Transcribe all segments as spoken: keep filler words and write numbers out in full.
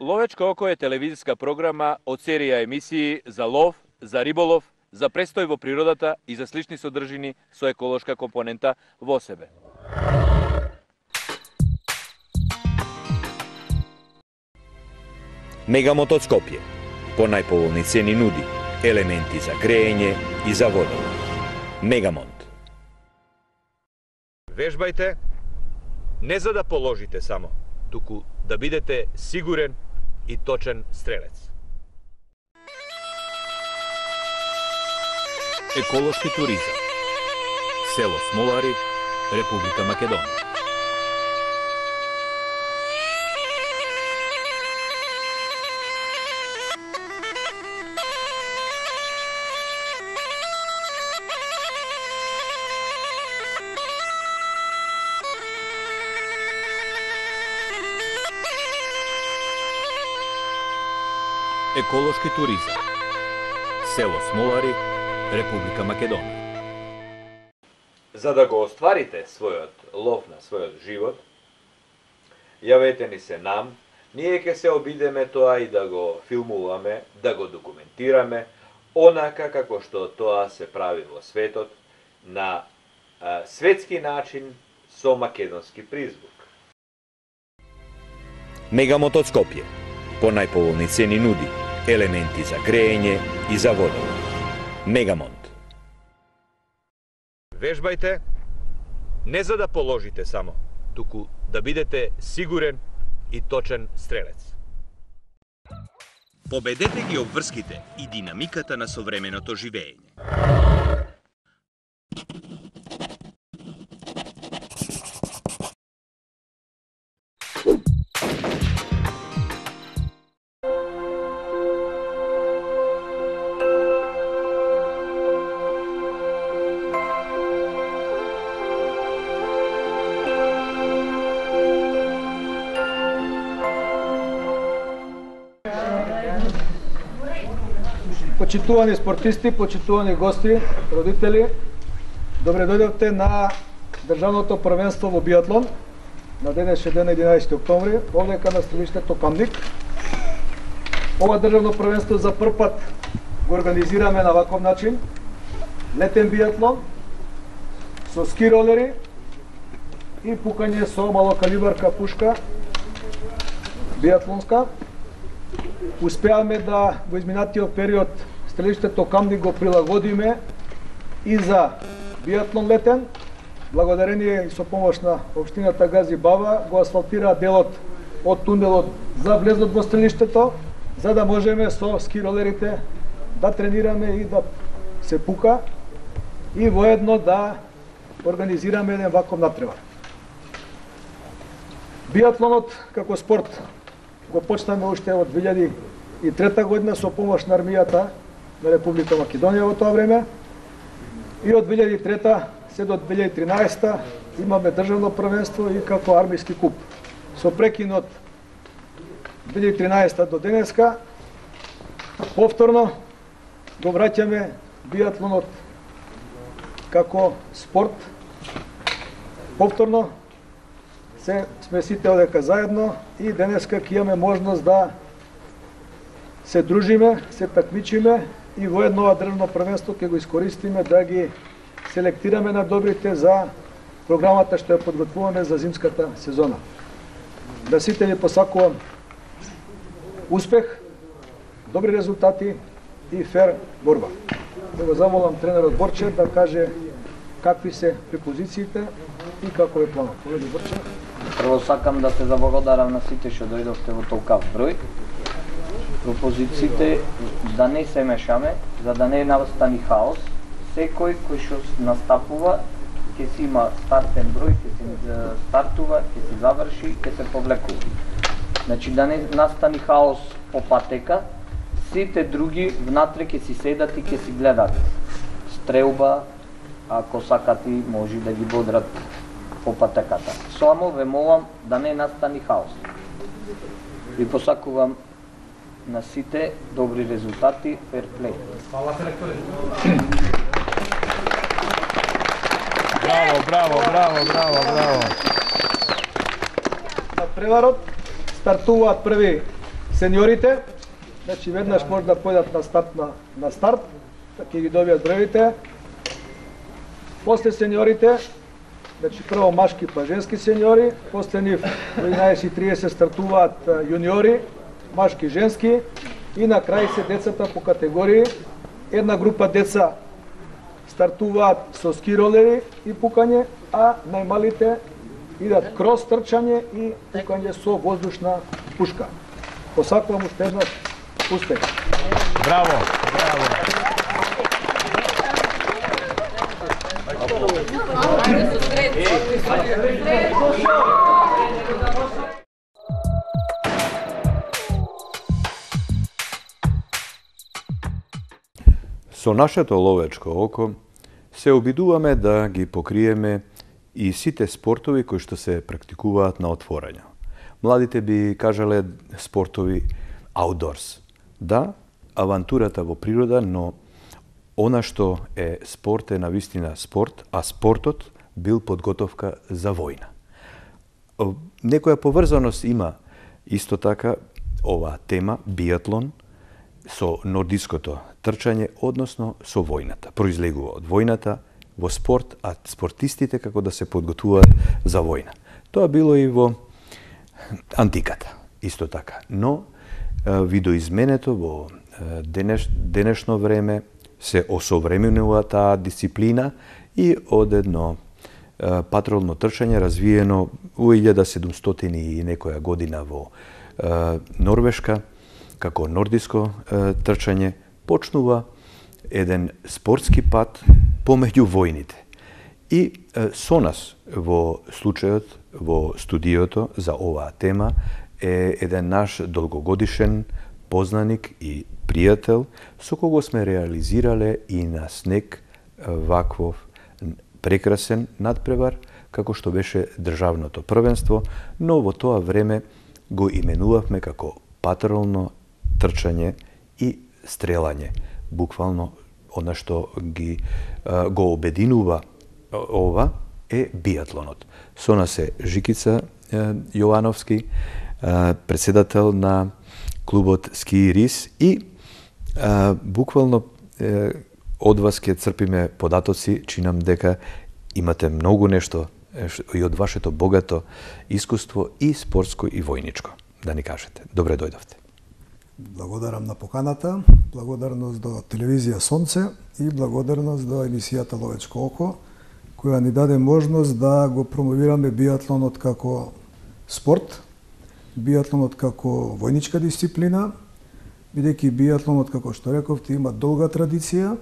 Ловечко око е телевизиска програма од серија емисии за лов, за риболов, за престој во природата и за слични содржини со еколошка компонента во себе. Мегамонт од Скопје по најповолни цени нуди елементи за греење и за водолов. Мегамонт. Вежбајте не за да положите само, туку да бидете сигурен и точен стрелец. Еколошки туризам. Село Смолари, Република Македонија. Еколошки туризам. Село Смолари, Република Македонија. За да го остварите својот лов на својот живот, јавете ни се нам, ние ќе се обидеме тоа и да го филмуваме, да го документираме, онака како што тоа се прави во светот, на а, светски начин со македонски призвук. Мегамонт од Скопје по најповолни цени нуди елементи за греење и за водолов. Мегамонт. Вежбајте не за да положите само, туку да бидете сигурен и точен стрелец. Победете ги обврските и динамиката на современото живење. Почитувани спортисти, почитувани гости, родители, добре дојдовте на државното првенство во биатлон на денешен ден единаесети октомври, овдека на стрелиштето Камник. Ова државно првенство за прв пат го организираме на ваков начин. Летен биатлон со ски ролери и пукање со малокалибарка пушка биатлонска. Успеавме да во изминатиот период стрелиштето Камник го прилагодиме и за биатлон летен. Благодарение и со помош на општината Гази Баба го асфалтира делот од тунелот за влезот во стрелиштето, за да можеме со ски ролерите да тренираме и да се пука и воедно да организираме еден ваков натпревар. Биатлонот како спорт го почнаме уште од две илјади и трета година со помош на армијата на Република Македонија во тоа време. И од две илјади и трета се до две илјади и тринаесета имаме државно првенство и како армијски куп. Со прекинот две илјади и тринаесета до денеска повторно го враќаме биатлонот како спорт. Повторно се сме сите одека заедно и денеска ќе имаме можност да се дружиме, се такмичиме и воедно ова државно првенство ќе го искористиме да ги селектираме на добрите за програмата што ја подготвуваме за зимската сезона. Да сите ви посакувам успех, добри резултати и фер борба. Да го замолам тренерот Борче да каже какви се препозициите и како е планот. Поведи Борче. Прво сакам да се заблагодарам на сите што дојдовте во толкав број. Пропозициите да не се мешаме, за да не настани хаос. Секој кој што настапува ќе си има стартен број, ќе се стартува, ќе се заврши, ќе се повлекува. Значи да не настани хаос по патека, сите други внатре ќе си седат и ќе си гледат. Стрелба, ако сакати, може да ги бодрат по патеката. Само ве молам да не настани хаос. Ви посакувам на сите добри резултати, фер плей. Фала селекторе. Браво, браво, браво, браво, браво. На преварот стартуваат први сениорите, значи веднаш може да појдат на старт на, на старт, ќе ги добијат броевите. После сениорите, значи прво машки па женски сениори, после нив во еднаесет и тридесет стартуваат јуниори, машки, женски, и на крај се децата по категории. Една група деца стартуваат со ски ролери и пукање, а најмалите идат крос трчање и пукање со воздушна пушка. Посакувам уште еднаш успех. Браво, браво. Со нашето ловечко око се обидуваме да ги покриеме и сите спортови кои што се практикуваат на отворање. Младите би кажале спортови outdoors. Да, авантурата во природа, но она што е спорт е навистина спорт, а спортот бил подготовка за војна. Некоја поврзаност има исто така оваа тема, биатлон, со нордиското трчање, односно со војната. Произлегува од војната во спорт, а спортистите како да се подготвуваат за војна. Тоа било и во антиката, исто така. Но видоизменето во денеш, денешно време се осовременува таа дисциплина и од едно патролно трчање развиено во илјада седумстотини и некоја година во Норвешка, како нордиско трчање, почнува еден спортски пат помеѓу војните. И со нас во случајот, во студиото за оваа тема, е еден наш долгогодишен познаник и пријател, со кого сме реализирале и на снег ваквов прекрасен надпревар, како што беше државното првенство, но во тоа време го именувавме како патролно трчање и стрелање. Буквално, она што ги го обединува ова е биатлонот. Со нас е Жикица Јовановски, председател на клубот Ски Рис, и буквално од вас ќе црпиме податоци, чинам дека имате многу нешто и од вашето богато искуство и спортско и војничко. Да ни кажете. Добре дојдовте. Благодарам на поканата, благодарност до телевизија Сонце и благодарност до емисијата Ловечко око, која ни даде можност да го промовираме биатлонот како спорт, биатлонот како војничка дисциплина, бидејќи биатлонот, како што рековте, има долга традиција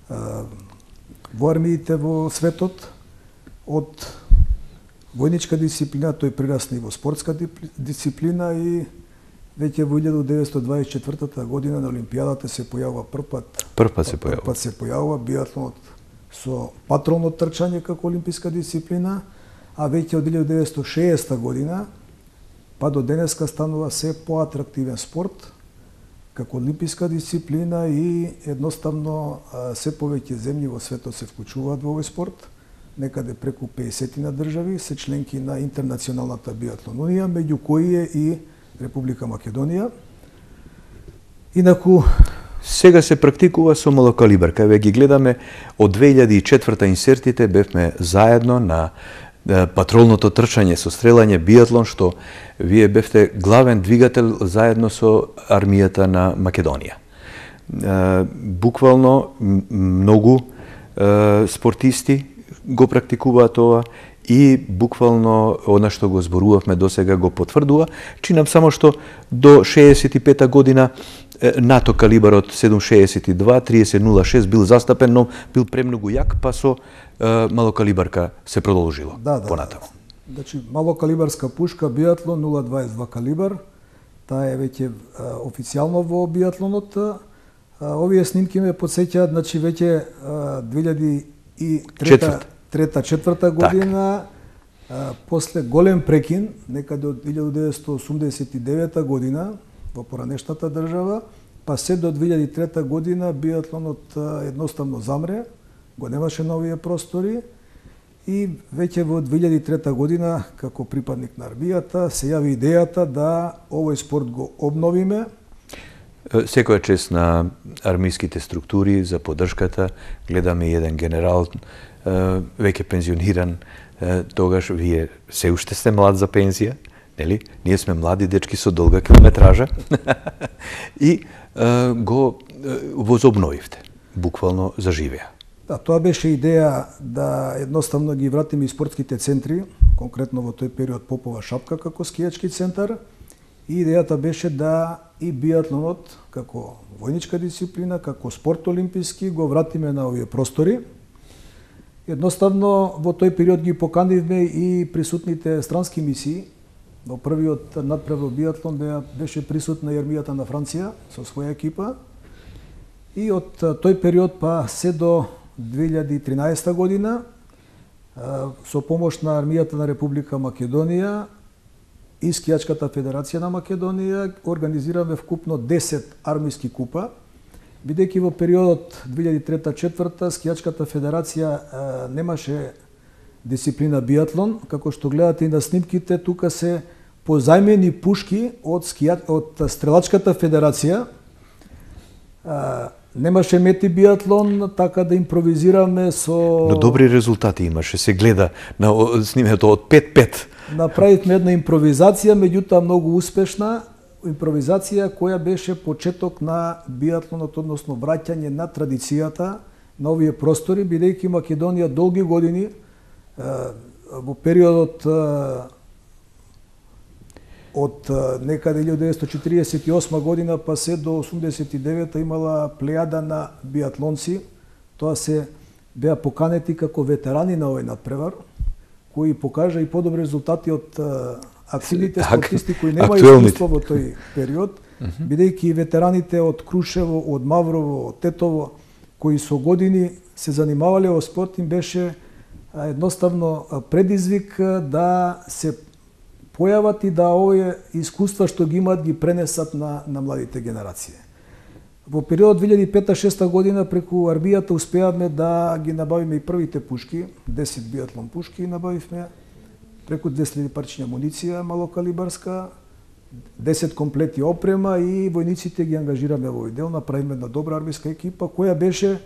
во армиите во светот. Од војничка дисциплина тој прирасна и во спортска дисциплина и веќе во илјада деветстотини дваесет и четвртата година на Олимпијадата се појавува првпат. Првпат се појавува. Првпат се појавува биатлонот со патролно трчање како олимписка дисциплина, а веќе од илјада деветстотини и шеесета година па до денеска станува се поатрактивен спорт како олимписка дисциплина и едноставно се повеќе земји во светот се вклучуваат во овој спорт. Некаде преку пеесет на држави се членки на Интернационалната биатлон унија, меѓу кои е и Република Македонија. Инаку сега се практикува со малокалибар. Кај ве ги гледаме од две илјади и четврта инсертите бевме заедно на патролното трчање со стрелање биатлон, што вие бевте главен двигател заедно со армијата на Македонија. Буквално многу спортисти го практикуваат ова и буквално она што го зборувавме досега го потврдува. Чинам само што до шеесет и пета година НАТО калибарот седум шеесет и два тридесет нула шест бил застапен, но бил премногу јак, па со малокалибарка се продолжило да, да, понатаму. Да. Значи, малокалибарска пушка биатлон нула дваесет и два калибар, таа е веќе официјално во биатлонот. Овие снимки ме потсеќаат, значи веќе две илјади и трета четврта година, а, после голем прекин, некаде од илјада деветстотини осумдесет и девета година, во поранешната држава, па се до две илјади и трета година биатлонот едноставно замре, го немаше на овие простори И веќе во две илјади и трета година, како припадник на армијата, се јави идејата да овој спорт го обновиме. Секоја чест на армиските структури за поддршката. Гледаме еден генерал, веќе пензиониран, тогаш вие се уште сте млад за пензија, нели? Ние сме млади дечки со долга километража и го возобновивте, буквално заживеа. Да, тоа беше идеја да едноставно ги вратиме и спортските центри, конкретно во тој период Попова шапка како скијачки центар, и идејата беше да и биатлонот како војничка дисциплина, како спорт олимписки го вратиме на овие простори. Едноставно во тој период ги поканивме и присутните странски мисии. Во првиот надпревар биатлон беше присутна и армијата на Франција со своја екипа. И од тој период па се до две илјади и тринаесета година со помош на армијата на Република Македонија и Скијачката федерација на Македонија организираме вкупно десет армиски купа, бидејќи во периодот две илјади и трета - четврта Скијачката федерација немаше дисциплина биатлон, како што гледате и на снимките, тука се позајмени пушки од скија... од Стрелачката федерација. Немаше мети биатлон, така да импровизираме со... Но добри резултати имаше, се гледа на снимето од пет пет. Направивме една импровизација, меѓутоа многу успешна импровизација која беше почеток на биатлонот, односно враќање на традицијата на овие простори, бидејќи Македонија долги години во периодот од некаде илјада деветстотини четиридесет и осма година па се до осумдесет и девета имала плејада на биатлонци. Тоа се беа поканети како ветерани на овој надпревар, кои покажа и подобри резултати од активните спортисти кои немаат искуство во тој период, бидејќи ветераните од Крушево, од Маврово, од Тетово, кои со години се занимавале во спорт, им беше едноставно предизвик да се појават и да овие искуства што ги имаат ги пренесат на, на младите генерации. Во период две илјади и пета - шеста година преку армијата успеавме да ги набавиме и првите пушки, десет биатлон пушки набавивме, преку двесте илјади парчиња амуниција малокалибарска, десет комплети опрема и војниците ги ангажираме во овој дел, направиме една добра армиска екипа која беше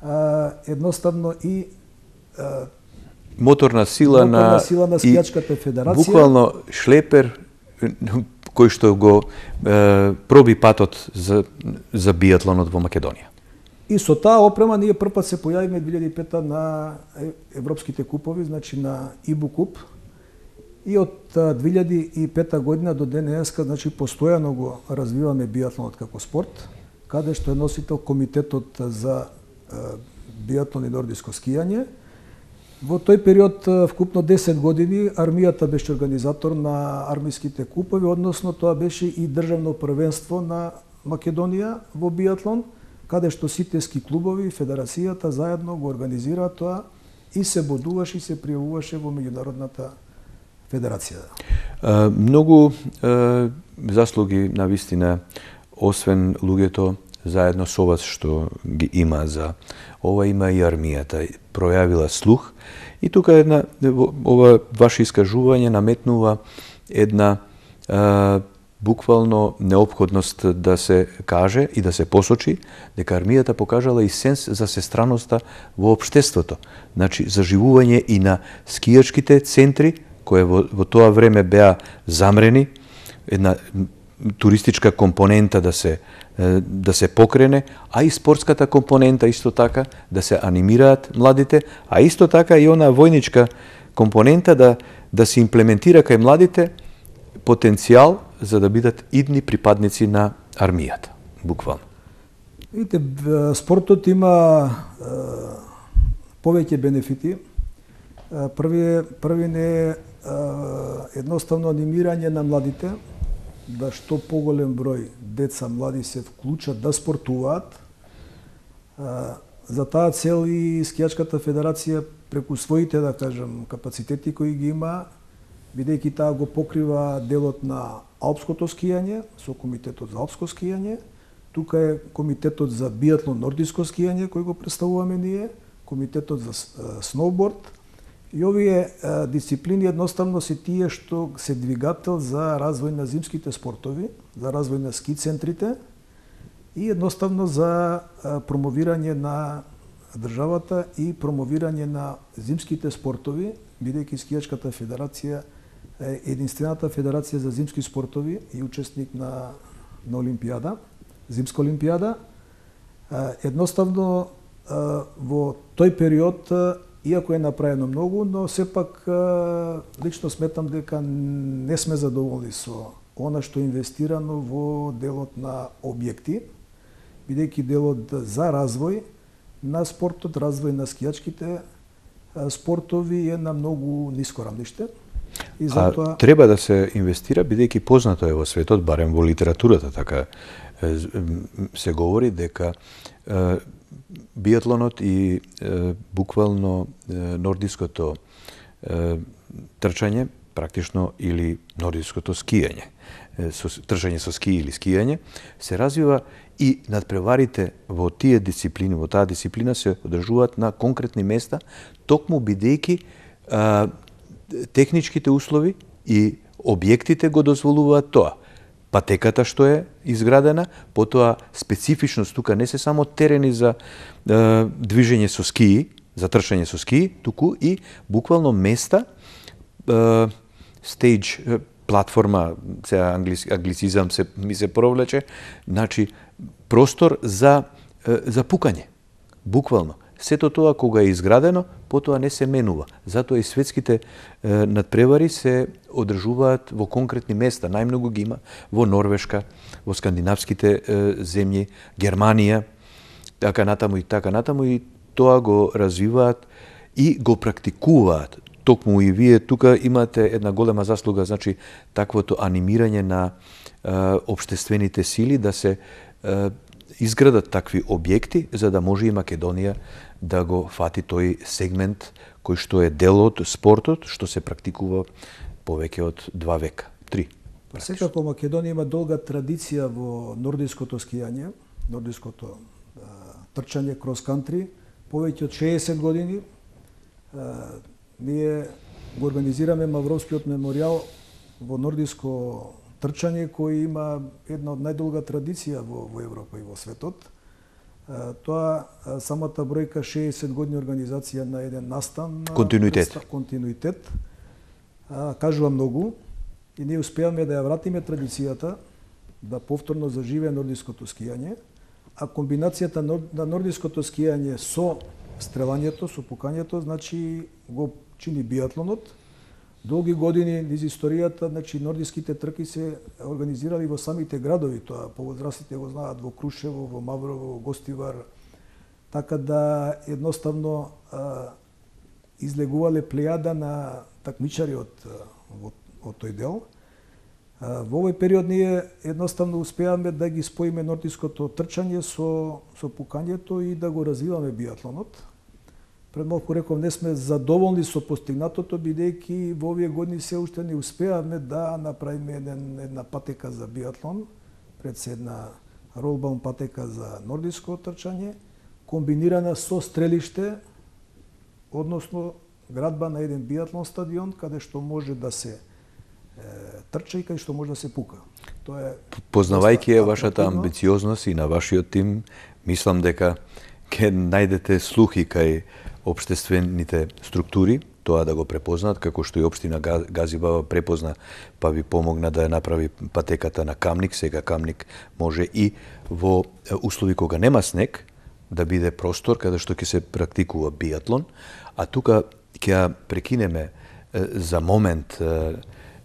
а, едноставно и а, моторна сила моторна на сила на Скијачката федерација. Буквално шлепер кој што го е, проби патот за за биатлонот во Македонија. И со таа опрема ние првпат се појавиме две илјади и пета на европските купови, значи на ИБУ куп. И од две илјади и пета година до денеска, значи постојано го развиваме биатлонот како спорт, каде што е носител комитетот за биатлон и нордиско скијање. Во тој период, вкупно десет години, армијата беше организатор на армиските купови, односно тоа беше и државно првенство на Македонија во биатлон, каде што сите ски клубови и федерацијата заедно го организираа тоа и се бодуваше и се пријавуваше во меѓународната федерација. А, многу а, заслуги на вистина, освен луѓето заедно со вас што ги има за ова, има и армијата пројавила слух. И тука една ова ваше искажување наметнува една а, буквално неопходност да се каже и да се посочи дека армијата покажала и сенс за сестраноста во општеството. Значи заживување и на скијачките центри кои во, во тоа време беа замрени, една туристичка компонента да се да се покрене, а и спортската компонента исто така да се анимираат младите, а исто така и она војничка компонента да да се имплементира кај младите потенцијал за да бидат идни припадници на армијата, буквално. Видите, спортот има е, повеќе бенефити. Први први не е едноставно анимирање на младите, да што поголем број деца, млади се вклучат да спортуваат. За таа цел и Скијачката федерација преку своите, да кажем, капацитети кои ги има, бидејќи таа го покрива делот на алпското скијање со комитетот за алпско скијање, тука е комитетот за биатлон нордиско скијање кој го представуваме ние, комитетот за сноуборд И овие а, дисциплини едноставно се тие што се двигател за развој на зимските спортови, за развој на ски центрите и едноставно за а, промовирање на државата и промовирање на зимските спортови, бидејќи скијачката федерација е единствената федерација за зимски спортови и учесник на, на Олимпијада, зимска Олимпијада. А, едноставно а, во тој период, иако е направено многу, но сепак лично сметам дека не сме задоволни со она што е инвестирано во делот на објекти, бидејќи делот за развој на спортот, развој на скијачките спортови е на многу ниско рамниште. И затоа... А треба да се инвестира, бидејќи познато е во светот, барем во литературата, така се говори дека биатлонот и е, буквално е, нордиското е, трчање, практично, или нордиското скијање, е, со, трчање со ски или скијање, се развива и надпреварите во тие дисциплини, во таа дисциплина се одржуваат на конкретни места, токму бидејќи а, техничките услови и објектите го дозволуваат тоа. Патеката што е изградена, потоа специфичност тука не се само терени за е, движење со скии, за трчање со скии, туку и буквално места, е, стейдж, платформа, сега англис, англицизам се, ми се провлече, значи простор за, е, за пукање, буквално. Сето тоа кога е изградено, потоа не се менува. Затоа и светските е, надпревари се одржуваат во конкретни места. Најмногу ги има во Норвешка, во скандинавските е, земји, Германија, така натаму и така натаму, и тоа го развиваат и го практикуваат. Токму и вие тука имате една голема заслуга, значи таквото анимирање на е, општествените сили да се е, изградат такви објекти, за да може и Македонија да го фати тој сегмент кој што е дел од спортот, што се практикува повеќе од два века, три. Секако Македонија има долга традиција во нордиското скијање, нордиското а, трчање крос-кантри, повеќе од шеесет години. А, ние го организираме Мавровскиот меморијал во нордиско трчање кој има една од најдолга традиција во, во Европа и во светот. А, тоа а, самата бројка шеесет години организација на еден настан, континуитет, представ, континуитет а, кажува многу и ние успеавме да ја вратиме традицијата да повторно заживее нордиското скијање, а комбинацијата на нордиското скијање со стрелањето, со пукањето, значи го чини биатлонот. Долги години низ историјата, значи нордиските трки се организирали во самите градови, тоа повозрастите го знаат, во Крушево, во Маврово, во Гостивар, така да едноставно а, излегувале плејада на такмичари од, од, од тој дел. А, во овој период ние едноставно успеавме да ги споиме нордиското трчање со, со пукањето и да го развиваме биатлонот. Пред малку реков, не сме задоволни со постигнатото, бидејќи во овие години се уште не успеавме да направиме еден, една патека за биатлон, пред се една ролбаун патека за нордиско трчање, комбинирана со стрелиште, односно градба на еден биатлон стадион, каде што може да се е, трча и каде што може да се пука. Тоа е Познавајќи е вашата амбициозност и на вашиот тим, мислам дека ќе најдете слухи кај општествените структури, тоа да го препознаат, како што и општина Газибава препозна, па ви помогна да ја направи патеката на Камник. Сега Камник може и во услови кога нема снег да биде простор каде што ќе се практикува биатлон, а тука ќе прекинеме за момент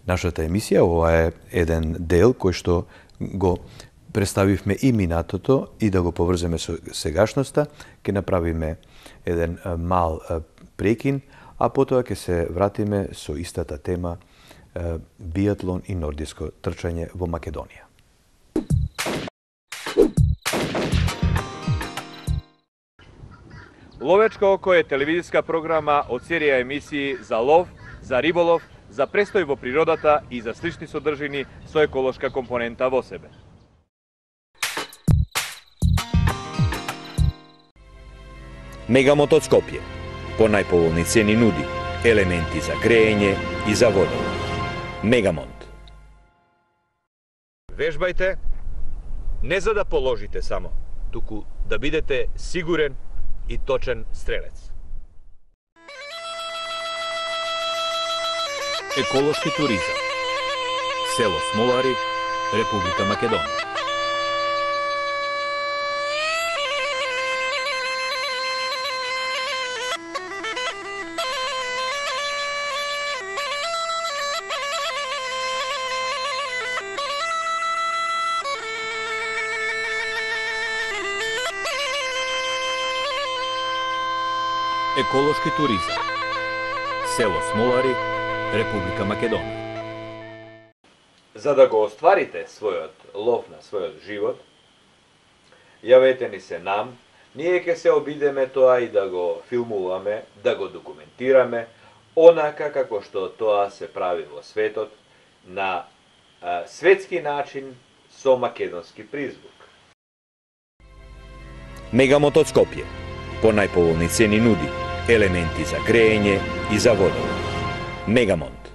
нашата емисија. Ова е еден дел кој што го представивме и минатото и да го поврземе со сегашноста. Ќе направиме еден мал прекин, а потоа ќе се вратиме со истата тема биатлон и нордиско трчање во Македонија. Ловечко око е телевизиска програма од серија емисии за лов, за риболов, за престој во природата и за слични содржини со еколошка компонента во себе. Мегамот од Скопје, по најповолни цени нуди елементи за грејење и за водовод. Мегамонт. Вежбајте не за да положите само, туку да бидете сигурен и точен стрелец. Еколошки туризам. Село Смолари, Република Македонија. Еколошки туризам. Село Смолари, Република Македонија. За да го остварите својот лов на својот живот, јавете ни се нам, ние ќе се обидеме тоа и да го филмуваме, да го документираме, онака како што тоа се прави во светот, на а, светски начин со македонски призвук. Мегамонт од Скопје. По најповолни цени нуди елементи за грејење и за водовод. Мегамонт.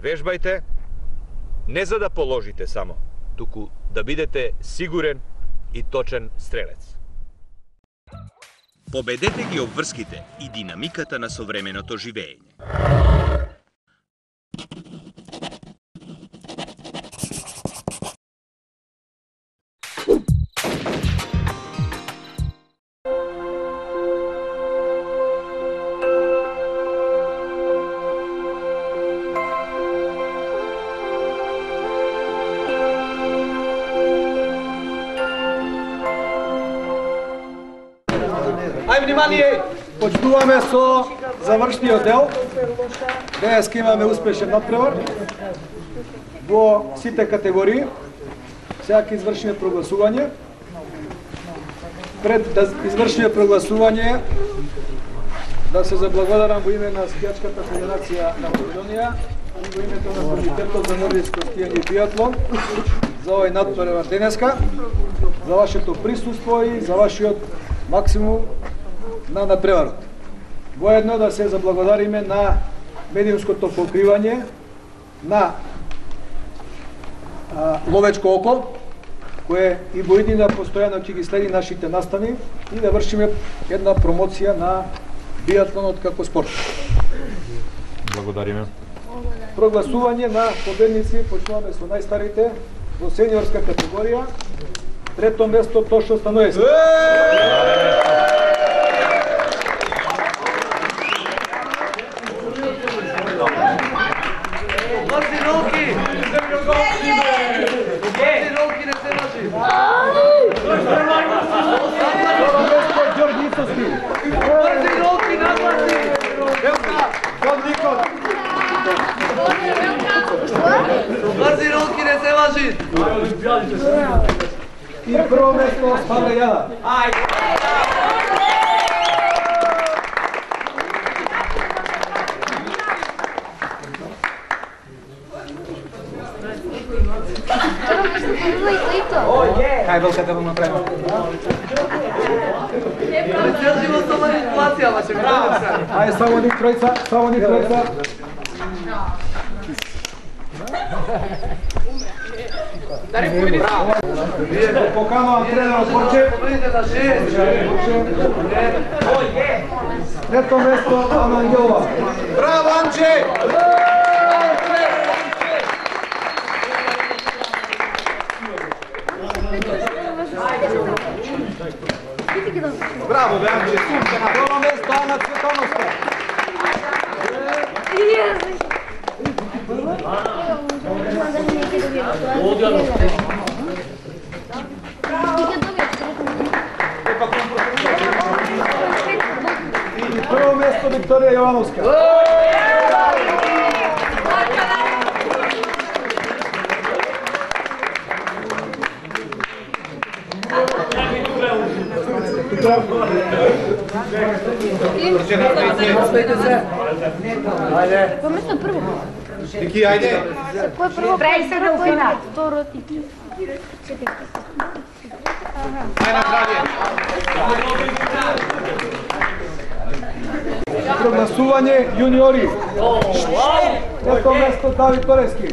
Вежбајте не за да положите само, туку да бидете сигурен и точен стрелец. Победете ги обврските и динамиката на современото живење. Ај внимание, почнуваме со завршниот дел. Денеска имаме успешен натпревар во сите категории. Сега ќе извршиме прогласување. Пред да извршиме прогласување, да се заблагодарам во име на Скијачката федерација на Македонија и во името на Комитетот за нордиско скијање и биатлон за овој натпревар денеска, за вашето присуство и за вашиот максимум на надпреварот. Воедно да се заблагодариме на медиумското покривање на а, Ловечко око, кое и во иднина постојано ќе ги следи нашите настани и да вршиме една промоција на биатлонот како спорт. Благодариме. Прогласување на победници, почнуваме со најстарите во сениорска категорија. Трето место Тошо Станоевски. Бързи руки, не се лъжи! И прво место Павле Јада. Хај белката го направиме. Цел живот со манипулација, ама ќе правам се. Ајде, само ни тројца, само ни тројца. Дари победите. Вие го поканувам тренерот Борче. Победите на шест. Трето место Ана Ангелова. Браво, Анче! Браво, бе, Анче. Прво место Ана Цветановска. И прво место Викторија Јовановска. Ајде. Кој место прво? Ники, ајде. Кој прво? Прај се до којна. Второ ти. Ајде на здравје. прогласување јуниори. Трето место Давид Торески.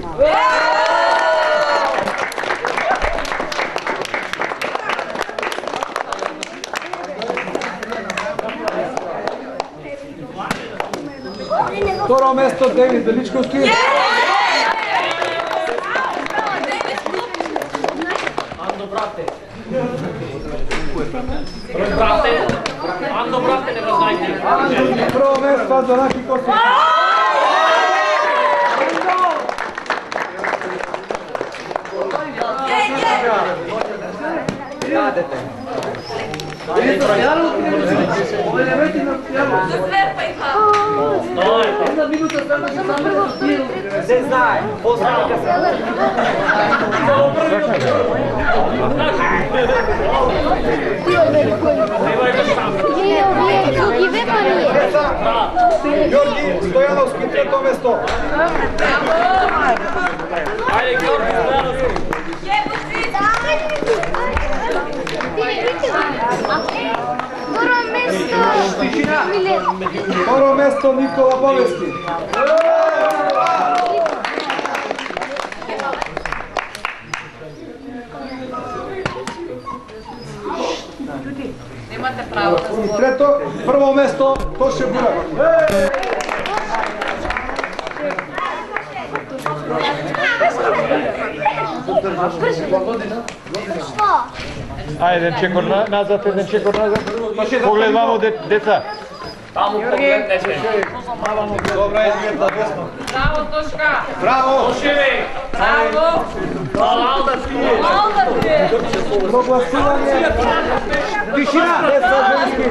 Второ место Девид Величковски. Андо брате. Брате. Андо брате, не го знаете. Прво место Андонаки Косовски. Јадете. Една минута само ќе само се знае. Познавајте се. Ѓорги Стојановски трето место. Ајде Ѓорги Стојановски. Второ место Милет. Второ место Никола Бовески. Немате право да И трето, прво место Тоше Бурак. Ајде, еден чекор назад, еден чекор назад. Поглед вамо, деца. Таму погледнете. Добра е, Дмитла, десно. Браво, Тошка! Браво! Тошеви! Браво! Прогласување. Тишина! Деца женски.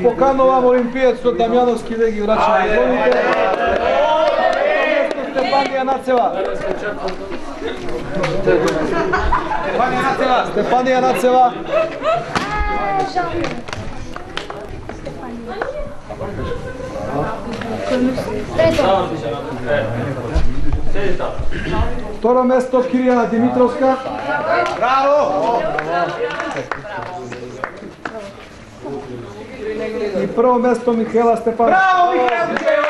Поканувам олимпиецот Дамјановски да ги врачи на главите. Стефанија Нацева. Стефанија Нацева. Стефанија Нацева. Второ место Киријана Димитровска. Браво! И прво место Михаела Стефанова. Браво, Михаела!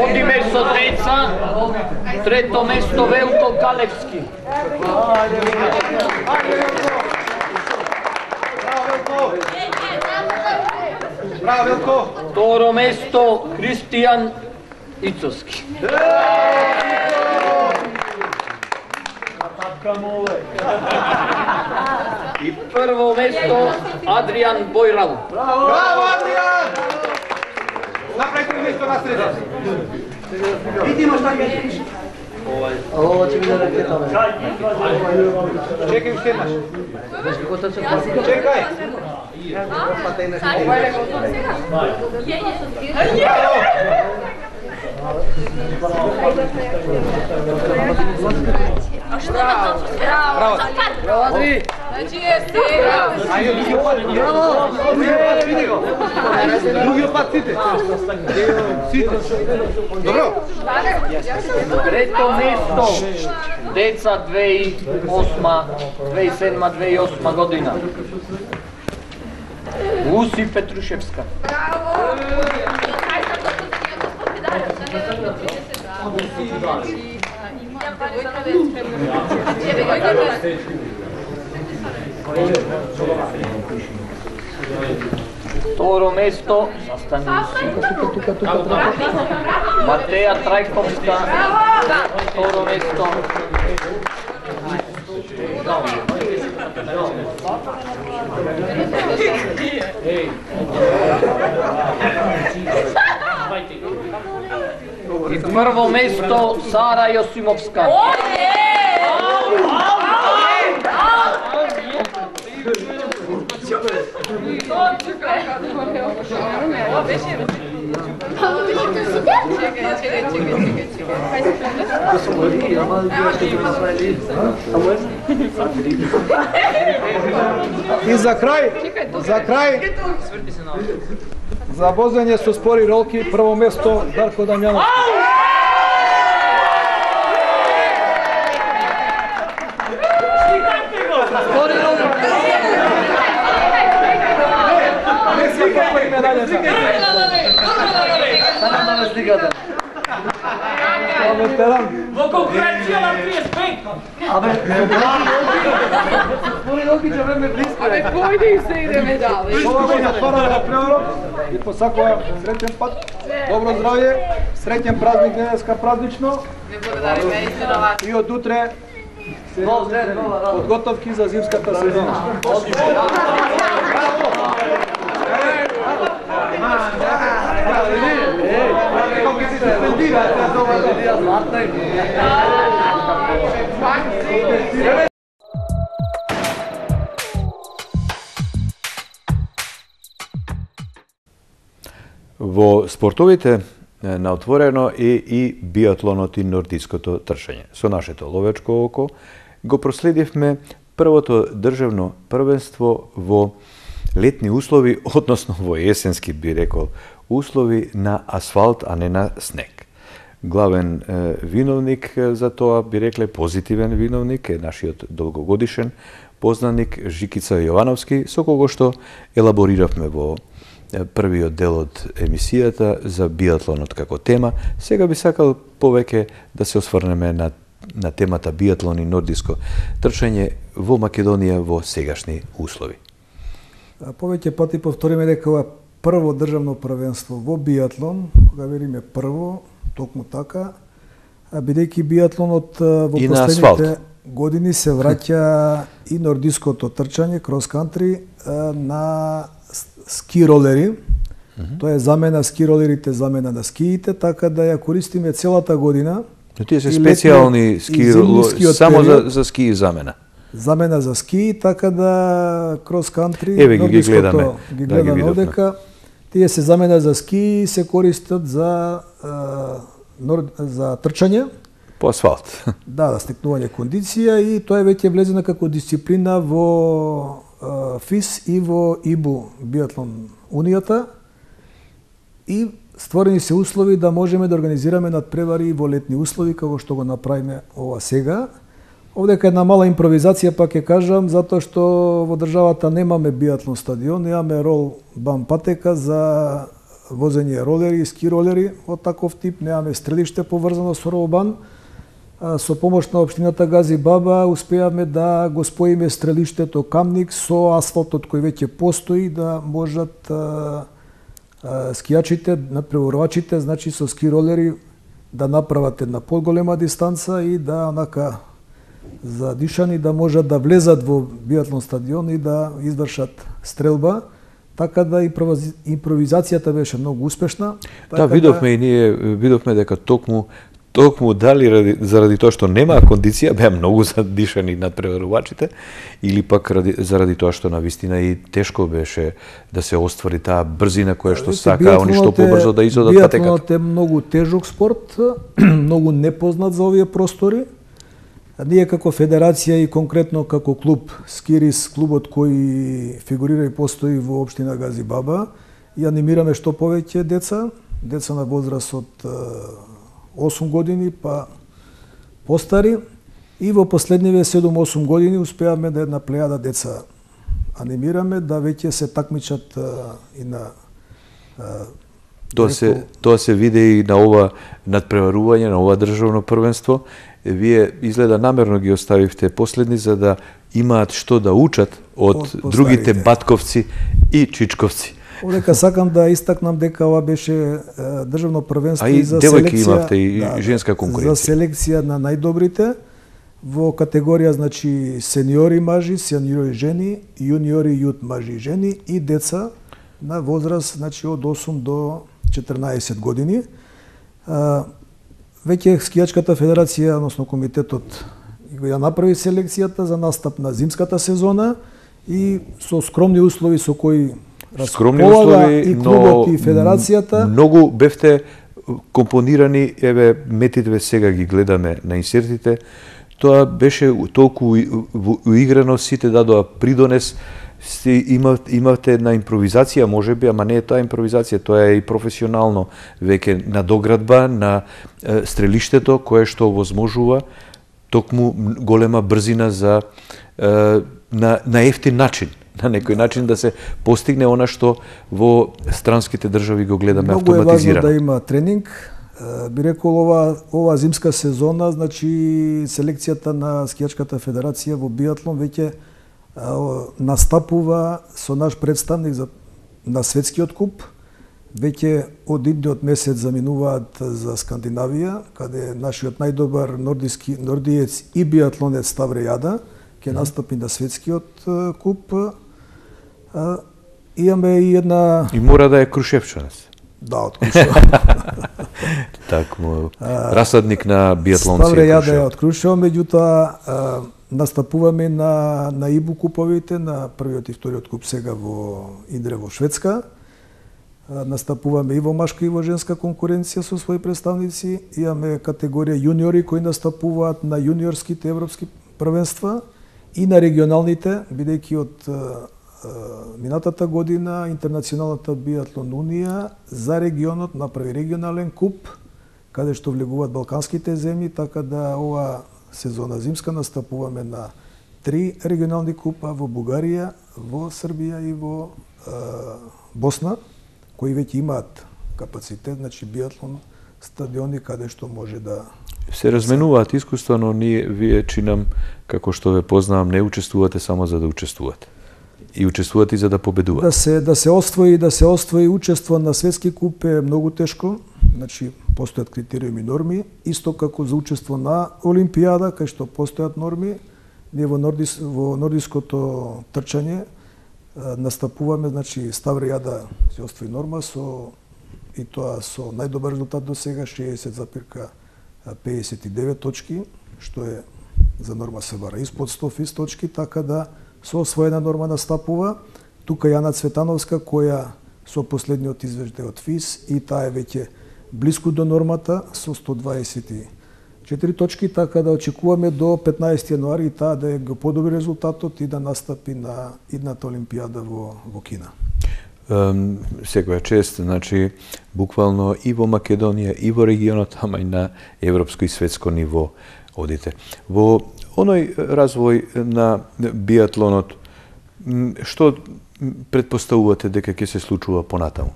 Оди место деца, трето место Велко Калевски. Браво, Велко! Второ место Кристијан Ицовски. И прво место Адријан Бојрал. Браво, Адријан! Направи три место на среда. Видимо што ќе пише. Ова ќе биде ракета. Чекај уште еднаш. Чекај. Браво! Браво! Адри! Значи е сега! Ајде, други пат! Браво! Види го! Други пат сите! Сите! Добро! Трето место деца две и осма, две и седма, две и осма година. Луси Петрушевска. Браво! Второ место, застани тука, тука, тука, тука. Матеја Трајковска. Второ место. И прво место Сара Јосимовска. И за крај, за крај, за возење со спори ролки, прво место Дарко Дамјановски. Во конкуренција на триесет пет. Абе, спори ролки ќе време близко. Абе, појде и се идеме дале. Ова го затвараме преорок и посакувам среќен пат, добро здравје, среќен празник денеска празнично. Не благодариме и се на вас. И од утре подготовки за зимската сезона. Во спортовите на отворено е и биатлонот и нордиското трчање. Со нашето ловечко око го проследивме првото државно првенство во летни услови, односно во есенски би рекол услови на асфалт, а не на снег. Главен е, виновник за тоа, би рекле позитивен виновник, е нашиот долгогодишен познаник Жикица Јовановски, со кого што елабориравме во првиот дел од емисијата за биатлонот како тема. Сега би сакал повеќе да се осврнеме на, на темата биатлон и нордиско трчање во Македонија во сегашни услови. Повеќе пати повториме дека ова прво државно првенство во биатлон, кога вериме прво, токму така, бидејќи биатлонот во и последните години се враќа и нордиското трчање, крос-кантри, на ски ролери. Mm -hmm. Тоа е замена ски ролерите, замена на скиите, така да ја користиме целата година. Но тие се специјални ски ролери, само за, за ски и замена. Замена за ски, така да крос-кантри, еве ги, ги гледаме, ги гледаме да, одека. Тие се замена за ски и се користат за, а, нор... за трчање. По асфалт. Да, да стекнување кондиција и тоа е веќе влезена како дисциплина во а, ФИС и во ИБУ, биатлон унијата. И створени се услови да можеме да организираме надпревари во летни услови, како што го направиме ова сега. Овдека една мала импровизација, пак ќе кажам, затоа што во државата немаме биатлон стадион, немаме рол бам патека за возење ролери и ски ролери од таков тип, немаме стрелиште поврзано со ролбан. Со помош на општината Гази Баба успеавме да го споиме стрелиштето Камник со асфалтот кој веќе постои, да можат а, а, скијачите, напреварувачите, значи со ски ролери да направат една поголема дистанца и да онака за дишани да можат да влезат во биатлон стадион и да извршат стрелба. Така да импровизацијата беше многу успешна. Да, видовме да... и ние видовме дека токму токму дали ради, заради тоа што нема кондиција беа многу задишани надпреварувачите или пак ради, заради тоа што навистина и тешко беше да се оствари таа брзина која што сака они што побрзо да изодат патеката. Биатлонот е многу тежок спорт, многу непознат за овие простори. Ние како федерација и конкретно како клуб Скирис, клубот кој фигурира и постои во општина Гази Баба, и анимираме што повеќе деца, деца на возраст од осум години па постари, и во последниве седум-осум години успеавме да една плејада деца анимираме да веќе се такмичат и на Тоа се тоа се виде и на ова надпреварување, на ова државно првенство. Вие изгледа намерно ги оставивте последни за да имаат што да учат од, од другите батковци и чичковци. Одека сакам да истакнам дека ова беше државно првенство и за девојки селекција, имавте и да, женска конкуренција. За селекција на најдобрите во категорија, значи сениори мажи, сениори жени, јуниори јут мажи и жени и деца на возраст, значи од осум до четрнаесет години. Веќе скијачката федерација, односно комитетот, ја направи селекцијата за настап на зимската сезона и со скромни услови со кои скромни услови, и клубот но и федерацијата. Многу бевте компонирани, еве метите сега ги гледаме на инсертите. Тоа беше толку уиграно, сите дадоа придонес. Имавте една импровизација, можеби, ама не е тоа импровизација, тоа е и професионално веќе надоградба на стрелиштето кое што возможува токму голема брзина за на на ефтин начин, на некој начин да се постигне она што во странските држави го гледаме Много автоматизирано. Многу е важно да има тренинг. Би рекол ова ова зимска сезона, значи селекцијата на скијачката федерација во биатлон веќе настапува со наш представник за, на светскиот куп. Веќе од идниот месец заминуваат за Скандинавија, каде нашиот најдобар нордиски нордиец и биатлонец Ставре Јада ќе настапи на светскиот куп. Имаме и една... И мора да е Крушевчанец. Да, од Крушево. Так му расадник на биатлонци. Ставре Јада е од Крушево, меѓутоа настапуваме на на ИБУ куповите, на првиот и вториот куп сега во Индре во Шведска. Настапуваме и во машка и во женска конкуренција со своји представници. Имаме категорија јуниори кои настапуваат на јуниорските европски првенства и на регионалните, бидејќи од минатата година Интернационалната биатлон унија за регионот направи регионален куп каде што влегуваат балканските земји, така да ова сезона зимска настапуваме на три регионални купа во Бугарија, во Србија и во е, Босна, кои веќе имаат капацитет, значи биатлон стадиони каде што може да се разменуваат искуства, но ние вие чинам како што ве познавам не учествувате само за да учествувате. И учествувате за да победувате. Да се да се освои, да се освои учество на светски куп е многу тешко. Значи постојат критериуми и норми, исто како за учество на Олимпијада, кај што постојат норми. Ние во нордис во нордиското трчање настапуваме, значи Ставре Јада се освои норма со и тоа со најдобар резултат до сега шеесет запирка пеесет и девет точки, што е за норма се бара испод сто физ точки, така да со освоена норма настапува. Тука Јана Цветановска, која со последниот извештај од ФИС и таа е веќе блиску до нормата со сто дваесет и четири точки, така да очекуваме до петнаесети јануари таа да е го подобри резултатот и да настапи на идната Олимпијада во во Кина. Um, секоја чест, значи, буквално и во Македонија, и во регионот, ама и на европско и светско ниво одите. Во оној развој на биатлонот, што предпоставувате дека ќе се случува понатаму?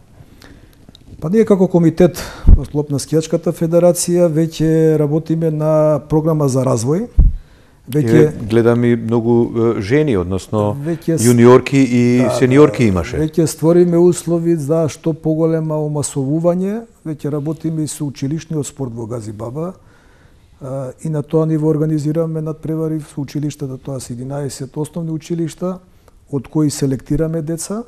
Па ние како комитет во склоп на скијачката федерација веќе работиме на програма за развој. Веќе гледам и многу жени, односно веќе, јуниорки и да, сениорки имаше. Веќе створиме услови за што поголема омасовување, веќе работиме и со училишниот спорт во Газибаба. И на тоа ниво организираме надпревари со училиштата, тоа се единаесет основни училишта, од кои селектираме деца.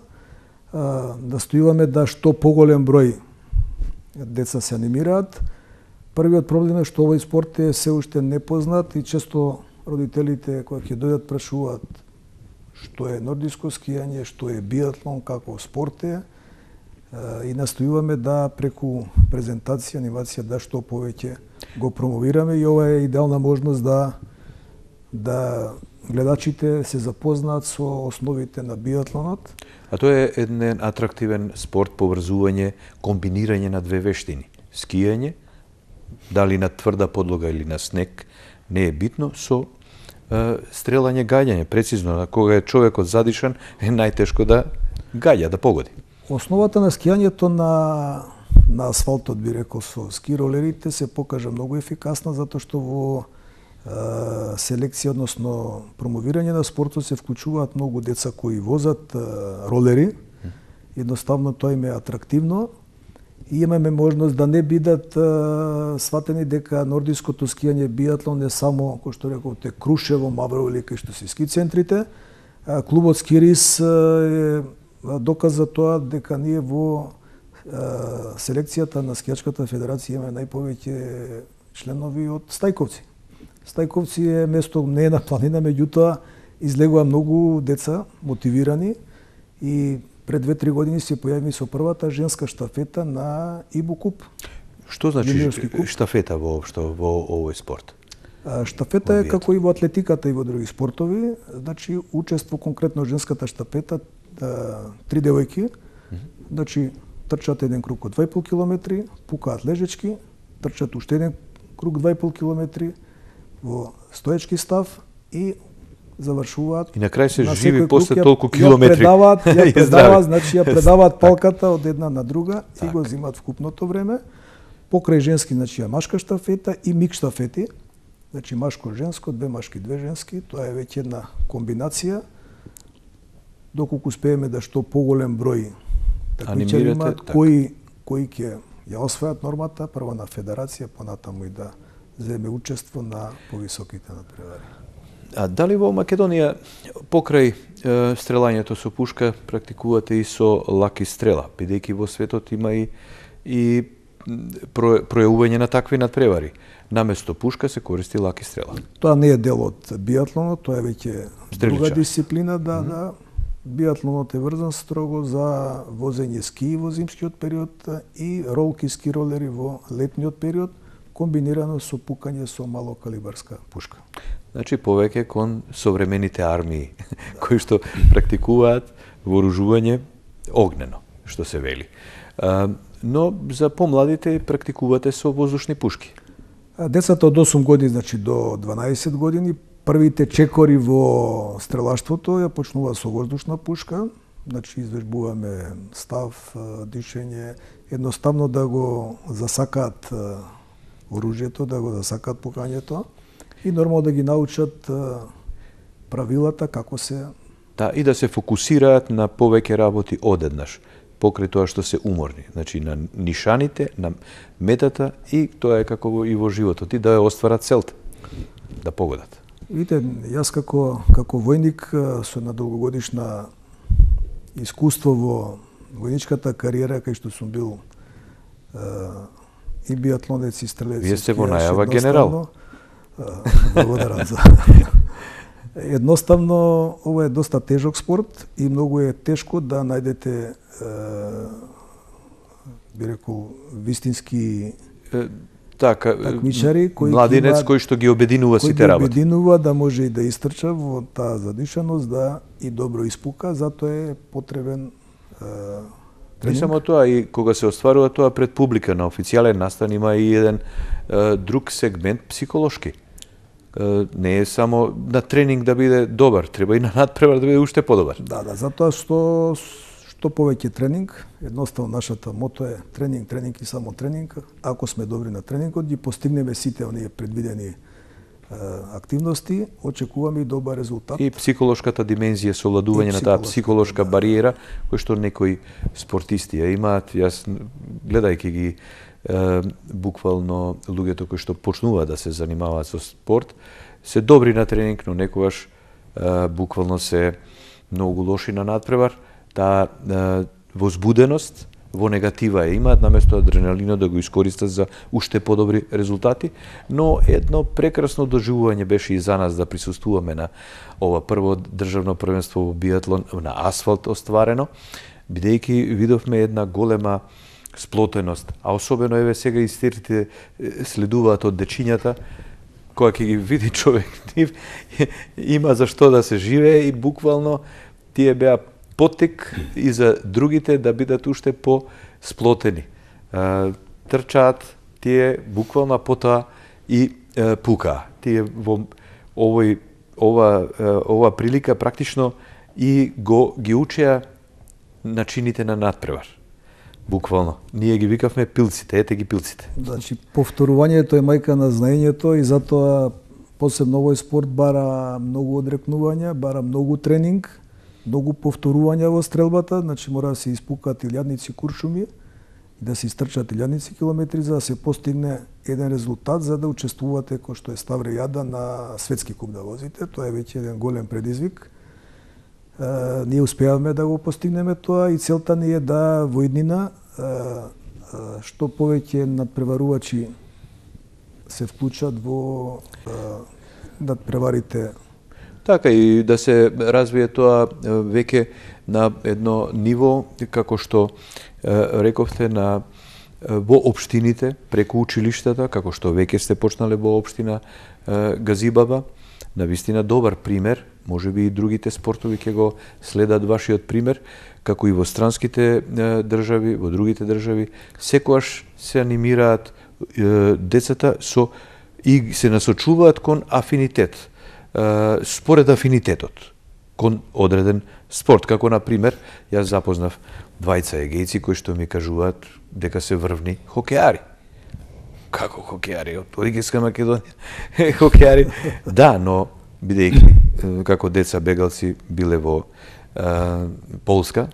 Настојуваме да што поголем број деца се анимираат. Првиот проблем е што овој спорт е се уште непознат и често родителите кои ќе дојдат прашуваат што е нордиско скијање, што е биатлон, како спорт е, и настојуваме да преку презентација, анимација да што повеќе го промовираме и ова е идеална можност да да гледачите се запознаат со основите на биатлонот. А тоа е еден атрактивен спорт, поврзување, комбинирање на две вештини. Скијање, дали на тврда подлога или на снег, не е битно, со е, стрелање, гаѓање, прецизно, кога е човекот задишан, е најтешко да гаѓа, да погоди. Основата на скијањето на на асфалтот, би рекол, со ски ролерите се покажа многу ефикасна, затоа што во е, селекција, односно промовирање на спортот се вклучуваат многу деца кои возат е, ролери. Едноставно тоа им е атрактивно. И имаме можност да не бидат а, сватени дека нордиското скијање биатлон не само, кој што рековте, Крушево, Маврово или кај што се ски центрите. А, клубот Скирис а, е доказ за тоа дека ние во а, селекцијата на скијачката федерација имаме најповеќе членови од Стајковци. Стајковци е место, не е на планина, меѓутоа излегува многу деца мотивирани и пред две-три години се појави со првата женска штафета на Ибу Куп. Што значи штафета воопшто во овој спорт? Штафета е како и во атлетиката и во други спортови, значи учество конкретно женската штафета, три девојки, значи трчат еден круг од два и пол километри, пукаат лежечки, трчат уште еден круг два и пол километри во стоечки став и завршуваат. И на крај се на живи после толку ја, километри. Ја предаваат, ја предаваат, значи ја предаваат палката од една на друга так. И го земат вкупното време. Покрај женски, значи ја машка штафета и мик штафети. Значи машко-женско, две машки, две женски, тоа е веќе една комбинација. Доколку успееме да што поголем број такмичари имаат, кои кои ќе ја освојат нормата, прво на федерација, понатаму и да земе учество на повисоките надпревари. А дали во Македонија покрај е, стрелањето со пушка практикувате и со лаки стрела, бидејќи во светот има и и про, пројавување на такви надпревари. Наместо пушка се користи лаки стрела. Тоа не е дел од биатлонот, тоа е веќе друга дисциплина, да, mm -hmm. да. Биатлонот е врзан строго за возење ски во зимскиот период и ролки ски ролери во летниот период, комбинирано со пукање со малокалибарска пушка. Значи повеќе кон современите армии кои што практикуваат вооружување огнено, што се вели. А, но за помладите практикувате со воздушни пушки. Децата од осум години, значи до дванаесет години, првите чекори во стрелаштвото ја почнува со воздушна пушка, значи извежбуваме став, дишење, едноставно да го засакаат оружјето, да го засакаат пукањето и нормално да ги научат правилата како се... Да, и да се фокусираат на повеќе работи одеднаш, покрај тоа што се уморни. Значи на нишаните, на метата и тоа е како и во животот, и да ја остварат целта, да погодат. Видите, јас како, како војник со една долгогодишна искуство во војничката кариера, кај што сум бил е, и биатлонец и стрелец. Вие сте во најава генерал. Благодарам за... Едноставно, ова е доста тежок спорт и многу е тешко да најдете, е, би рекол, вистински е, така, такмичари, кои младинец има, кој што ги обединува сите работи. Кој ги обединува да може и да истрча во таа задишаност, да и добро испука, затоа е потребен е, Не само тоа, и кога се остварува тоа пред публика на официјален настан, има и еден е, друг сегмент психолошки. Е, не е само на тренинг да биде добар, треба и на надпревар да биде уште подобар. Да, да, затоа што што повеќе тренинг, едноставно нашата мото е тренинг, тренинг и само тренинг. Ако сме добри на тренингот, ги постигнеме сите оние предвидени е, активности, очекуваме и добар резултат. И психолошката димензија, совладување на таа психолошка да. бариера, кој што некои спортисти ја имаат. Јас, гледајќи ги е, буквално луѓето кои што почнуваат да се занимаваат со спорт, се добри на тренинг, но некогаш е, буквално се многу лоши на надпревар. Таа е, возбуденост во негатива ја имаат, наместо адреналинот да го искористат за уште подобри резултати, но едно прекрасно доживување беше и за нас да присуствуваме на ова прво државно првенство во биатлон на асфалт остварено, бидејќи видовме една голема сплотеност, а особено еве сега и истерите следуваат од дечињата, кога ќе ги види човек нив, има за што да се живее и буквално тие беа поттик и за другите да бидат уште по-сплотени. Трчаат тие буквално потоа и е, пука. Тие во овој ова ова прилика практично и го ги учеа начините на надпревар. Буквално. Ние ги викавме пилците, ете ги пилците. Значи повторувањето е мајка на знаењето и затоа посебно овој спорт бара многу одрекнувања, бара многу тренинг, многу повторувања во стрелбата, значи мора да се испукаат илјадници куршуми и да се истрчат илјадници километри за да се постигне еден резултат за да учествувате кој што е Ставре Јада на светски куп да возите. Тоа е веќе еден голем предизвик. Е, ние успеавме да го постигнеме тоа и целта ни е да во иднина е, е, што повеќе надпреварувачи се вклучат во е, надпреварите. Така и да се развие тоа веќе на едно ниво, како што рековте, на во општините, преку училиштата, како што веќе сте почнале во општина Газибаба. Навистина добар пример, може би и другите спортови ќе го следат вашиот пример, како и во странските држави, во другите држави, секогаш се анимираат децата со и се насочуваат кон афинитет, според афинитетот, кон одреден спорт. Како, например, јас запознав двајца егејци кои што ми кажуваат дека се врвни хокеари. Како хокеари? Од Оригинска Македонија. Хокеари. Да, но бидејќи како деца бегалци биле во а, Полска,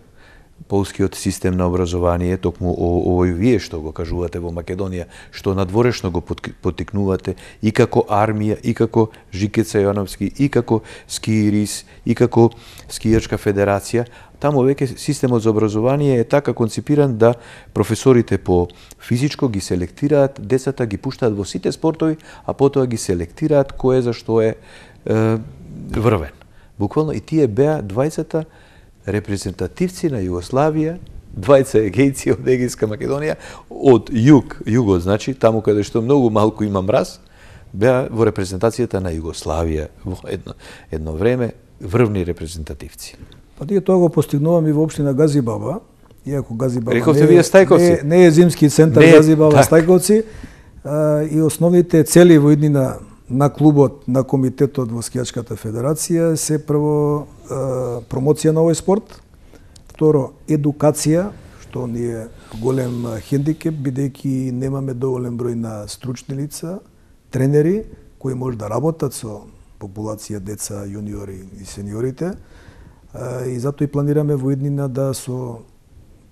полскиот систем на образование, токму овој вие што го кажувате во Македонија, што надворешно го поттикнувате и како армија, и како Жикеца Јовановски, и како Скиирис, и како Скијачка федерација, таму веќе системот за образование е така конципиран да професорите по физичко ги селектираат, децата ги пуштаат во сите спортови, а потоа ги селектираат кој за што е, е врвен. Буквално и тие беа двајцата репрезентативци на Југославија, двајца егејци од Егејска Македонија, од југ, југот, значи, таму каде што многу малку има мраз, беа во репрезентацијата на Југославија во едно, едно време, врвни репрезентативци. Па ние тоа го постигнуваме и во општина Газибаба, иако Газибаба Рековте не, вие Стајковци. Не, не е зимски центар не, Газибаба так. Стајковци, а, и основните цели во иднина на клубот, на комитетот во Скијачката федерација се прво е, промоција на овој спорт, второ едукација, што ни е голем хендикеп, бидејќи немаме доволен број на стручни лица, тренери кои може да работат со популација деца, јуниори и сениорите. Е, и затоа и планираме во иднина да со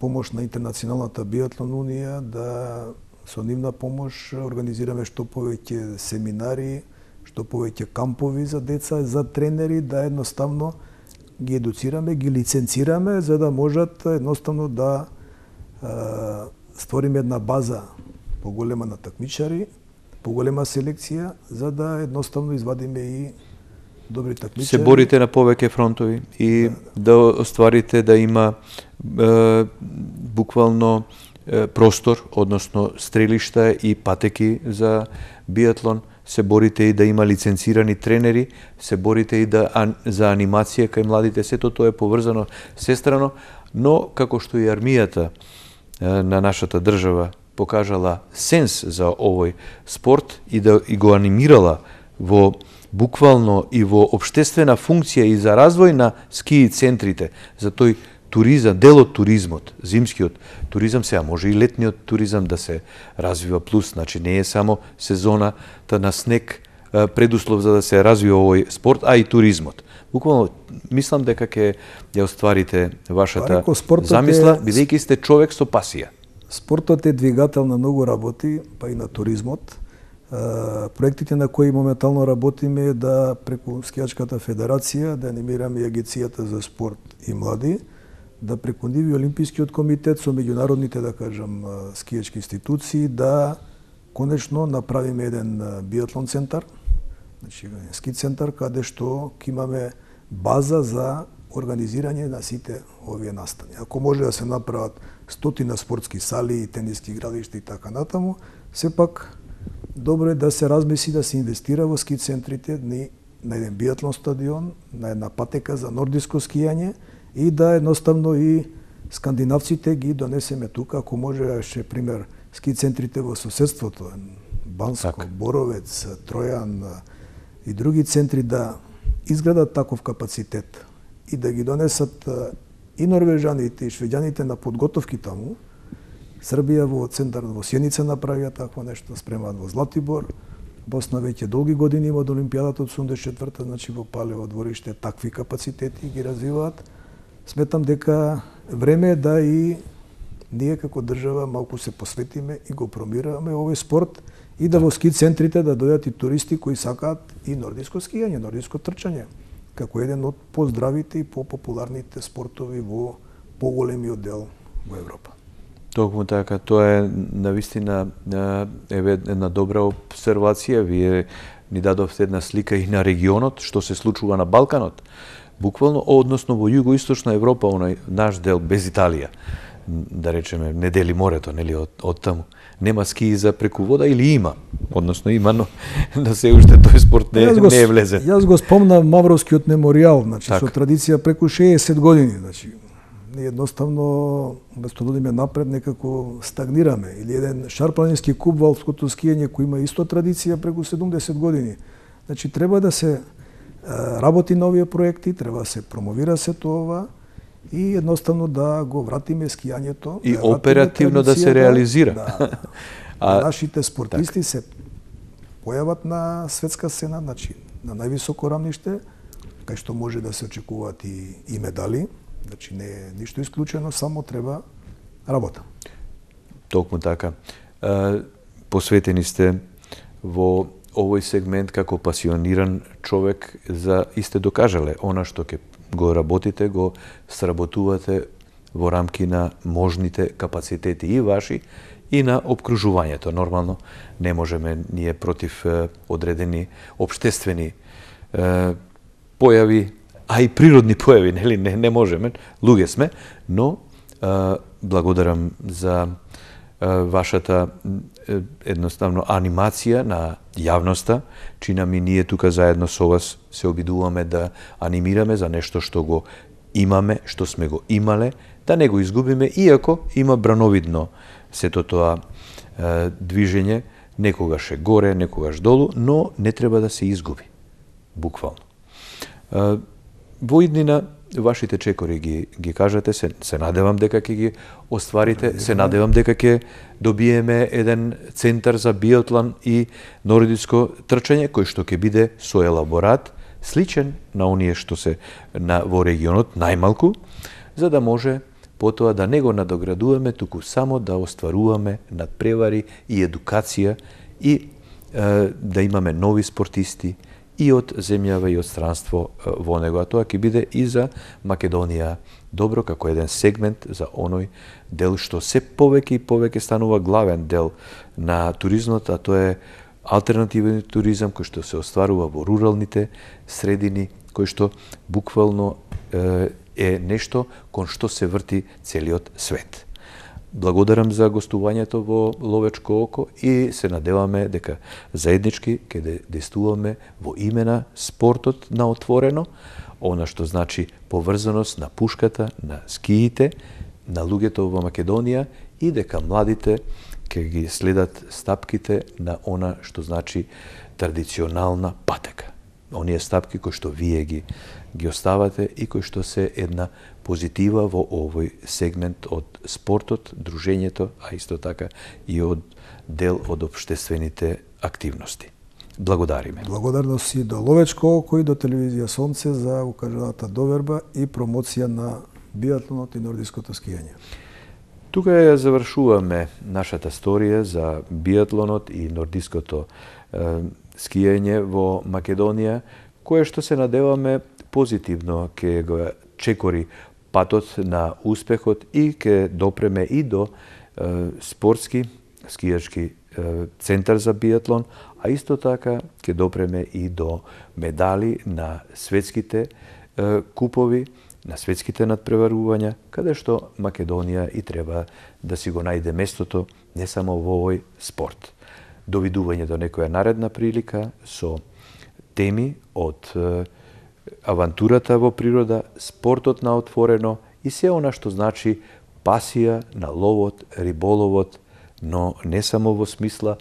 помош на Интернационалната биатлон унија да со нивна помош организираме што повеќе семинари, што повеќе кампови за деца, за тренери, да едноставно ги едуцираме, ги лиценцираме, за да можат едноставно да е, створиме една база поголема на такмичари, поголема селекција, за да едноставно извадиме и добри такмичари. Се борите на повеќе фронтови и да, да остварите да има е, буквално простор, односно стрелишта и патеки за биатлон, се борите и да има лиценцирани тренери, се борите и да, ан, за анимација кај младите, сето тоа е поврзано сестрано, но како што и армијата на нашата држава покажала сенс за овој спорт и да и го анимирала во буквално и во општествена функција и за развој на ски центрите, за тој туризам, дел од туризмот, зимскиот туризам, сега може и летниот туризам да се развива плюс, значи не е само сезоната на снег предуслов за да се развива овој спорт, а и туризмот. Буквално мислам дека ќе ја остварите вашата замисла, бидејќи сте човек со пасија. Спортот е двигател на многу работи, па и на туризмот. Проектите на кои моментално работиме е да преку Скијачката федерација да анимираме Агенцијата за спорт и млади, да преку нив и Олимпискиот комитет со меѓународните, да кажам, скијачки институции, да конечно направиме еден биатлон центар, значи ски центар, каде што ќе имаме база за организирање на сите овие настани. Ако може да се направат стотина спортски сали, тениски игралишта и така натаму, сепак добро е да се размисли да се инвестира во ски центрите, на еден биатлон стадион, на една патека за нордиско скијање, и да едноставно и скандинавците ги донесеме тука, ако може, ше пример, ски центрите во соседството, Банско, так. Боровец, Тројан и други центри да изградат таков капацитет и да ги донесат и норвежаните и швеѓаните на подготовки таму. Србија во центар во Сјеница направија такво нешто, спремаат во Златибор. Босна веќе долги години има од Олимпијадата од седумдесет и четврта, значи во Палево двориште такви капацитети ги развиваат. Сметам дека време е да и ние како држава малку се посветиме и го промираме овој спорт и да во ски центрите да дојдат и туристи кои сакаат и нордиско скијање, нордиско трчање, како еден од поздравите и попопуларните спортови во поголемиот дел во Европа. Токму така, тоа е навистина еве една добра обсервација. Вие ни дадовте една слика и на регионот, што се случува на Балканот. Буквално, односно во југоисточна Европа, оној наш дел без Италија, да речеме, не дели морето, нели, од, од таму. Нема скии за преку вода или има? Односно има, но да се уште тој спорт не, го, не е влезен. Јас го спомнам Мавровскиот меморијал, значи так. со традиција преку шеесет години, значи ние едноставно вместо да одиме напред некако стагнираме. Или еден шарпланински куп во алпското скијање кој има исто традиција преку седумдесет години. Значи треба да се работи на овие проекти, треба да се промовира се тоа и едноставно да го вратиме скијањето и да оперативно да се реализира. Да, а нашите спортисти так. се појават на светска сцена, значи на највисоко рамниште, кај што може да се очекуваат и, и медали, значи не е ништо исклучено, само треба работа. Токму така. Посветени сте во овој сегмент како пасиониран човек за и сте докажале она што ќе го работите, го сработувате во рамки на можните капацитети и ваши и на обкружувањето. Нормално не можеме ние против одредени обштествени е, појави, а и природни појави, нели, не, не можеме, луѓе сме, но е, благодарам за е, вашата е, едноставно анимација на јавноста, чина ми ние тука заедно со вас се обидуваме да анимираме за нешто што го имаме, што сме го имале, да не го изгубиме, иако има брановидно сето тоа е, движење, некогаш е горе, некогаш долу, но не треба да се изгуби, буквално. Е, во иднина, вашите чекори ги, ги кажате, се, се надевам дека ќе ги остварите, се надевам дека ќе добиеме еден центар за биатлон и нордиско трчање, кој што ќе биде со елаборат, сличен на оние што се на, во регионот, најмалку, за да може потоа да не го надоградуваме, туку само да остваруваме надпревари и едукација и е, да имаме нови спортисти и од земјава и од странство во него. А тоа ќе биде и за Македонија добро, како еден сегмент за оној дел што се повеќе и повеќе станува главен дел на туризмот, а тоа е алтернативен туризам кој што се остварува во руралните средини, кој што буквално е, е нешто кон што се врти целиот свет. Благодарам за гостувањето во Ловечко око и се надеваме дека заеднички ќе действуваме во име на спортот на отворено, она што значи поврзаност на пушката, на скиите, на луѓето во Македонија и дека младите ќе ги следат стапките на она што значи традиционална патека. Оние стапки кои што вие ги ги оставате и кои што се една позитива во овој сегмент од спортот, дружењето, а исто така и од дел од општествените активности. Благодариме. Благодарности до Ловечко око и до телевизија Сонце за укажаната доверба и промоција на биатлонот и нордиското скијање. Тука ја завршуваме нашата сторија за биатлонот и нордиското е, скијање во Македонија, кое што се надеваме позитивно ќе го чекори патот на успехот и ќе допреме и до е, спортски, скијачки е, центар за биатлон, а исто така ќе допреме и до медали на светските е, купови, на светските надпреварувања, каде што Македонија и треба да си го најде местото не само во овој спорт. Довидување до некоја наредна прилика со теми од е, авантурата во природа, спортот на отворено и се она што значи пасија на ловот, риболовот, но не само во смисла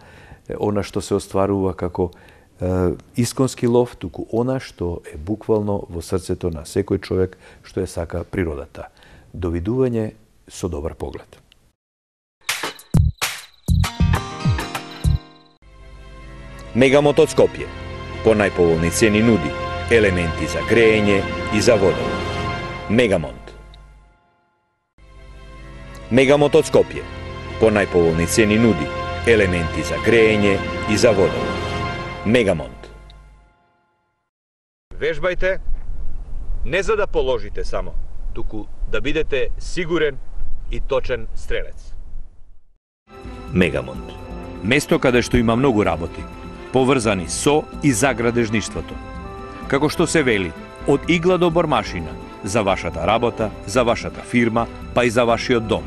она што се остварува како е, исконски лов, туку она што е буквално во срцето на секој човек што е сака природата. Довидување со добар поглед. Мегамонт од Скопје по најповолни цени нуди елементи за грејење и за водовод. Мегамонт. Мегамонт од Скопје по најповолни цени нуди елементи за грејење и за водовод. Мегамонт. Вежбајте не за да положите само, туку да бидете сигурен и точен стрелец. Мегамонт. Место каде што има многу работи, поврзани со и за градежништвото. Како што се вели, Од игла до бормашина, за вашата работа, за вашата фирма, па и за вашиот дом.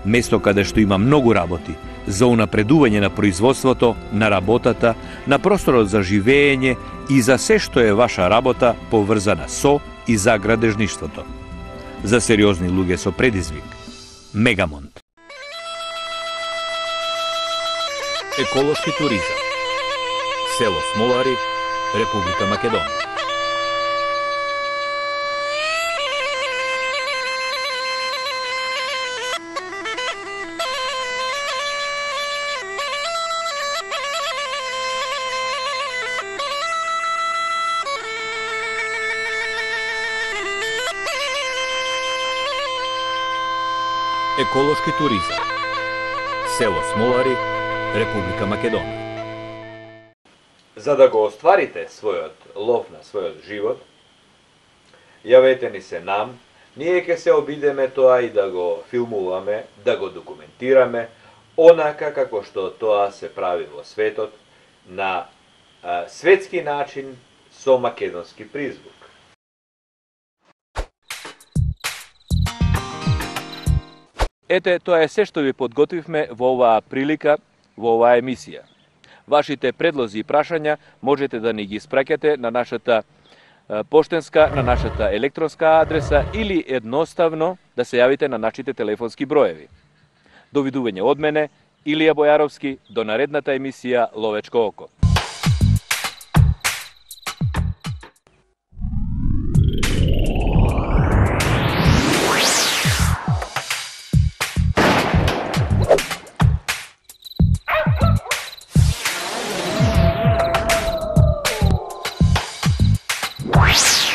Место каде што има многу работи, за унапредување на производството, на работата, на просторот за живење и за се што е ваша работа поврзана со и за градежништвото. За сериозни луѓе со предизвик. Мегамонт. Еколошки туризам. Село Смолари, Република Македонија. Еколошки туризам. Село Смолари, Република Македонија. За да го остварите својот лов на својот живот, јавете ни се нам, ние ќе се обидеме тоа и да го филмуваме, да го документираме, онака како што тоа се прави во светот, на а, светски начин со македонски призвук. Ете, тоа е се што ви подготвивме во оваа прилика, во оваа емисија. Вашите предлози и прашања можете да ни ги испраќате на нашата поштенска, на нашата електронска адреса или едноставно да се јавите на нашите телефонски броеви. Довидување од мене, Илија Бојаровски, до наредната емисија Ловечко око. What?